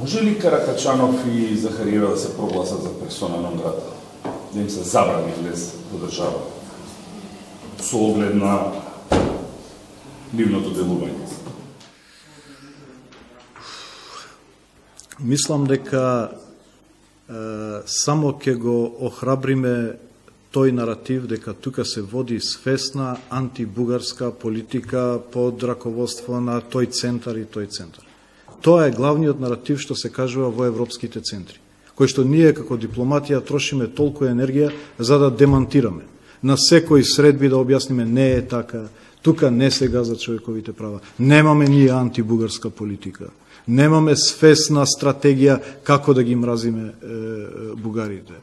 Може ли Каракачанов и Захариева да се прогласат за персона нон грата? Да им се забрани влез во држава? Со оглед на нивното делување? Мислам дека само ќе го охрабриме тој наратив дека тука се води свесна антибугарска политика под раководство на тој центар и тој центар. Тоа е главниот наратив што се кажува во европските центри, кој што ние како дипломатија трошиме толку енергија за да демантираме. На секој средби да објасниме не е така, тука не се газат човековите права, немаме ние антибугарска политика, немаме свесна стратегија како да ги мразиме бугарите.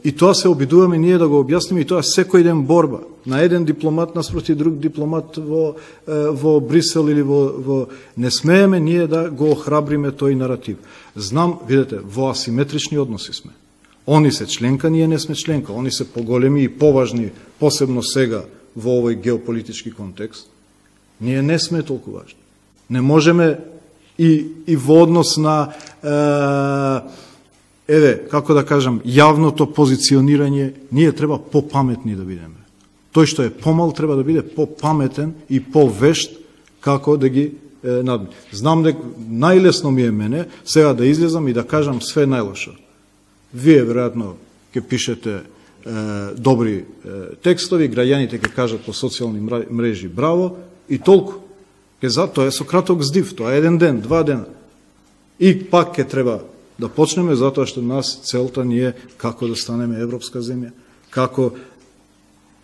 И тоа се обидуваме ние да го објасниме и тоа секој ден борба. На еден дипломат наспроти друг дипломат во Брисел или не смееме ние да го охрабриме тој наратив. Знам, видете, во асиметрични односи сме. Они се членка, ние не сме членка. Они се поголеми и поважни, посебно сега во овој геополитички контекст. Ние не сме толку важни. Не можеме и во однос на како да кажам, јавното позиционирање, ние треба попаметни да бидеме. Тој што е помал треба да биде попаметен и повешт како да ги надмени. Знам дека најлесно ми е мене сега да излезам и да кажам све најлошо. Вие веројатно ќе пишете добри текстови, граѓаните ќе кажат по социјални мрежи браво и толку. Тоа е со краток здив, тоа е еден ден, 2 дена. И пак ќе треба да почнеме, затоа што нас целта ни е како да станеме европска земја, како,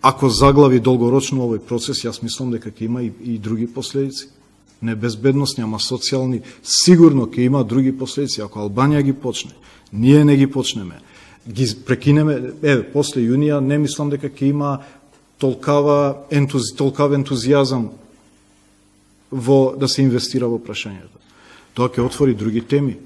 ако заглави долгорочно овој процес, јас мислам дека ќе има и други последици. Не безбедностни, ама социјални, сигурно ќе има други последици. Ако Албанија ги почне, ние не ги почнеме, ги прекинеме, после јунија, не мислам дека ќе има толкав ентузијазам да се инвестира во прашањето. Тоа ќе отвори други теми.